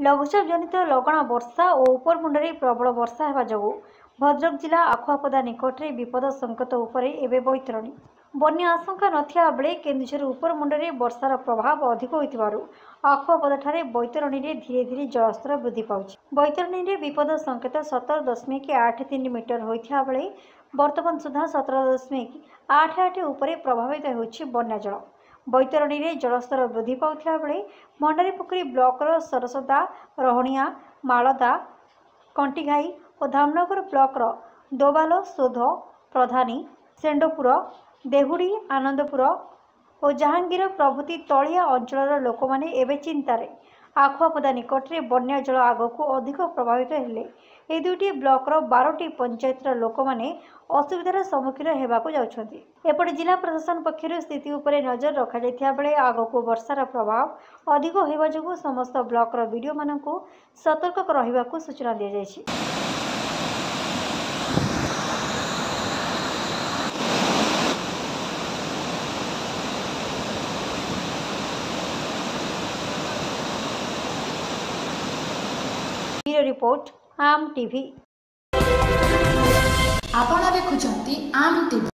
ଲଘୁଚାପ ଜନିତ ଲଗାଣ ବର୍ଷା ଓ ଉପରମୁଣ୍ଡରେ ପ୍ରବଳ ବର୍ଷା ହେବା ଯୋଗୁଁ ଭଦ୍ରକ ଜିଲ୍ଲା ଆଖୁଆପଦା ନିକଟରେ ବିପଦ ସଂକେତ ଉପରେ ଏବେ ବୈତରଣୀ। ବନ୍ୟା ଆଶଙ୍କା ନଥିବା ବେଳେ କେନ୍ଦୁଝର ଉପରମୁଣ୍ଡରେ ବର୍ଷାର ପ୍ରଭାବ ଅଧିକ ହୋଇଥିବାରୁ ଆଖୁଆପଦାଠାରେ ବୈତରଣୀରେ ଧୀରେ ଧୀରେ ଜଳସ୍ତର ବୃଦ୍ଧି ପାଉଛି। ବୈତରଣୀରେ ବିପଦ ସଂକେତ 17.83 ମିଟର ହୋଇଥିବା ବେଳେ ବର୍ତ୍ତମାନ ସୁଦ୍ଧା 17.88 ଉପରେ ପ୍ରଭାବିତ ହେଉଛି ବନ୍ୟା ଜଳ। ବୈତରଣୀରେ ଜଳସ୍ତର ବୃଦ୍ଧି ପାଉଥିବା ବେଳେ ଭଣ୍ଡାରୀପୋଖରୀ ବ୍ଲକର ସରସଦା, ରହଣିଆ, ମାଳଦା, କଣ୍ଟିଘାଇ ଓ ଧାମନଗର ବ୍ଲକର ଦୋବାଲ, ସୋଧ, ପ୍ରଧାନୀ, ସେଣ୍ଡପୁର, ଦେହୁଡ଼ି, ଆନନ୍ଦପୁର ଓ ଜାହାଙ୍ଗୀର ପ୍ରଭୃତି ତଳିଆ ଅଞ୍ଚଳର ଲୋକମାନେ ଏବେ ଚିନ୍ତାରେ। ଆଖୁଆପଦା ନିକଟରେ ବନ୍ୟା ଜଳ ଆଗକୁ ଅଧିକ ପ୍ରଭାବିତ ହେଲେ ଏହି ଦୁଇଟି ବ୍ଲକର 12ଟି ପଞ୍ଚାୟତର ଲୋକମାନେ ଅସୁବିଧାର ସମ୍ମୁଖୀନ ହେବାକୁ ଯାଉଛନ୍ତି। ଏପଟେ ଜିଲ୍ଲା ପ୍ରଶାସନ ପକ୍ଷରୁ ସ୍ଥିତି ଉପରେ ନଜର ରଖାଯାଇଥିବା ବେଳେ ଆଗକୁ ବର୍ଷାର ପ୍ରଭାବ ଅଧିକ ହେବା ଯୋଗୁଁ ସମସ୍ତ ବ୍ଲକର ବିଡିଓମାନଙ୍କୁ ସତର୍କ ରହିବାକୁ ସୂଚନା ଦିଆଯାଇଛି। ବ୍ୟୁରୋ ରିପୋର୍ଟ, ଆମ୍ ଟିଭି। ଆପଣ ଦେଖୁଛନ୍ତି ଆମ୍ ଟିଭି।